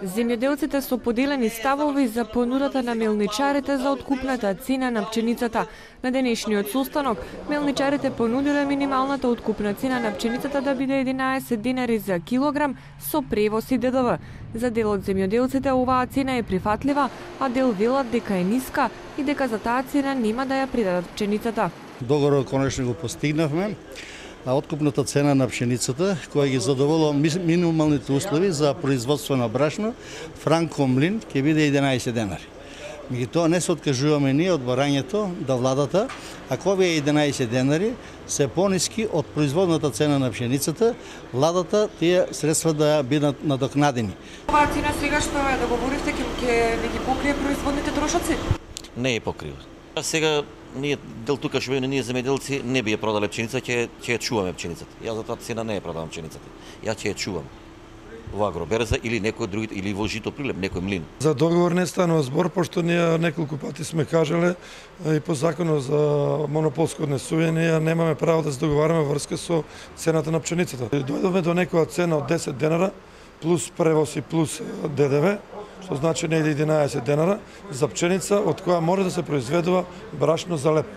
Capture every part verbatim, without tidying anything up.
Земјоделците со поделени ставови за понудата на мелничарите за откупната цена на пченицата. На денешниот состанок, мелничарите понудиле минималната откупна цена на пченицата да биде единаесет динари за килограм со превоз и Д Д В. За дел од земјоделците оваа цена е прифатлива, а дел велат дека е ниска и дека за таа цена нема да ја придадат пченицата. Договорот конечно го постигнавме. А откупната цена на пшеницата, која ги задоволува минималните услови за производство на брашно, Франко Млин, ќе биде единаесет денари. Меѓутоа не се откажуваме ние од барањето да владата, ако овие единаесет денари се пониски од производната цена на пшеницата, владата тие средства да бидат надокнадени. Оваа цена сега што ја договоривте ќе не ги покрие производните трошоци? Не ја покрива. А сега ние дел тука што ние земјоделци не би ја продале пченица, ќе ќе ја чуваме пченицата. Јас за таа цена не ја продавам пченицата. Јас ќе ја чувам во агроберза или некој други или во жито прилеп, некој млин. За договор не станува збор, пошто ние неколку пати сме кажале и по законот за монополско однесување ние немаме право да се договараме врска со цената на пченицата. Дојдовме до некоја цена од десет денара плюс превоз и плюс Д Д В, што значи негде единаесет денара за пченица од која може да се произведува брашно за леп.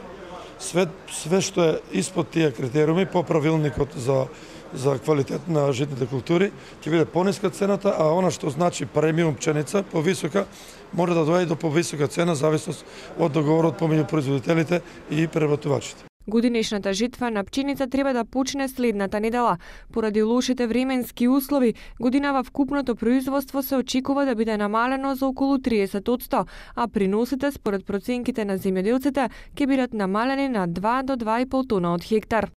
Све, све што е испод тие критериуми по правилникот за за квалитет на житните култури ќе биде пониска цената, а она што значи премиум пченица повисока може да доаѓа до повисока цена зависност од договорот помеѓу производителите и преработувачите. Годинешната житва на пченица треба да почне следната недела. Поради лошите временски услови, годинава вкупното производство се очекува да биде намалено за околу триесет одсто, а приносите според проценките на земјоделците ќе бидат намалени на два до два и пол тона од хектар.